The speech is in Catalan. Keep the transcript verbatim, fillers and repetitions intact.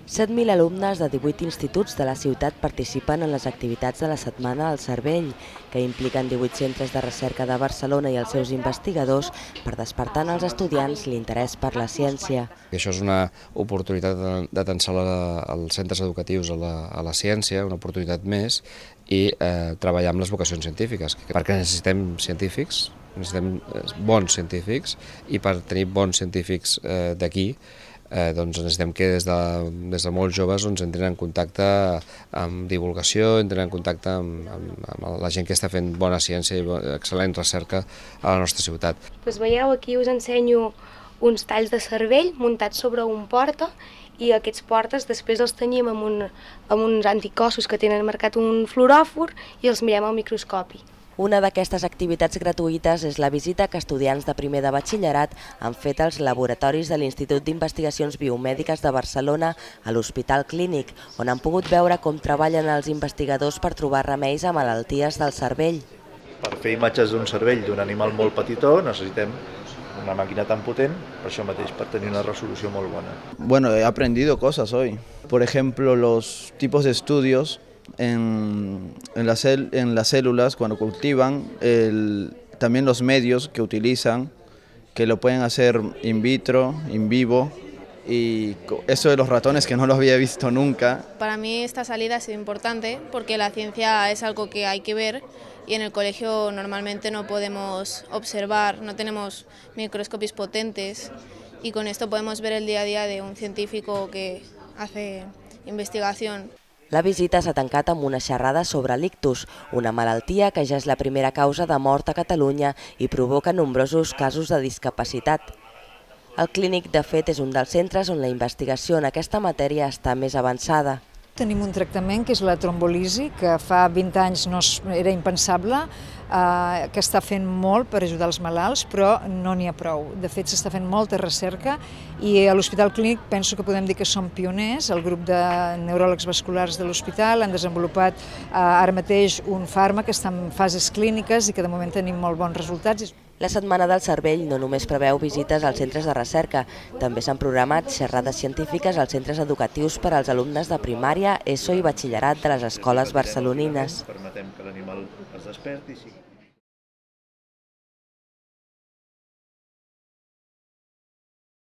set mil alumnes de divuit instituts de la ciutat participen en les activitats de la Setmana del Cervell, que impliquen divuit centres de recerca de Barcelona i els seus investigadors per despertar en els estudiants l'interès per la ciència. Això és una oportunitat d'atençar els centres educatius a la, a la ciència, una oportunitat més, i eh, treballar amb les vocacions científiques, perquè necessitem científics, necessitem bons científics, i per tenir bons científics eh, d'aquí, Eh, doncs necessitem que des de, des de molt joves doncs, entrin en contacte amb divulgació, entrin en contacte amb, amb, amb la gent que està fent bona ciència i excel·lent recerca a la nostra ciutat. Pues veieu, aquí us ensenyo uns talls de cervell muntats sobre un porta, i aquests portes després els tenyim amb, un, amb uns anticossos que tenen marcat un fluoròfor i els mirem al microscopi. Una d'aquestes activitats gratuïtes és la visita que estudiants de primer de batxillerat han fet als laboratoris de l'Institut d'Investigacions Biomèdiques de Barcelona a l'Hospital Clínic, on han pogut veure com treballen els investigadors per trobar remeis a malalties del cervell. Per fer imatges d'un cervell d'un animal molt petitó necessitem una màquina tan potent, per això mateix, per tenir una resolució molt bona. Bueno, he aprendido cosas hoy. Por ejemplo, los tipos de estudios En, en, las cel, en las células cuando cultivan, el, también los medios que utilizan, que lo pueden hacer in vitro, in vivo, y eso de los ratones que no lo había visto nunca. Para mí esta salida ha sido importante porque la ciencia es algo que hay que ver y en el colegio normalmente no podemos observar, no tenemos microscopios potentes y con esto podemos ver el día a día de un científico que hace investigación. La visita s'ha tancat amb una xerrada sobre l'ictus, una malaltia que ja és la primera causa de mort a Catalunya i provoca nombrosos casos de discapacitat. El Clínic, de fet, és un dels centres on la investigació en aquesta matèria està més avançada. Tenim un tractament que és la trombolisi, que fa vint anys no era impensable, eh, que està fent molt per ajudar els malalts, però no n'hi ha prou. De fet, s'està fent molta recerca i a l'Hospital Clínic penso que podem dir que som pioners. El grup de neuròlegs vasculars de l'hospital han desenvolupat eh, ara mateix un fàrmac que està en fases clíniques i que de moment tenim molt bons resultats. La Setmana del Cervell no només preveu visites als centres de recerca, també s'han programat xerrades científiques als centres educatius per als alumnes de primària, ESO i batxillerat de les escoles barcelonines. Permetem que l'animal es desperti.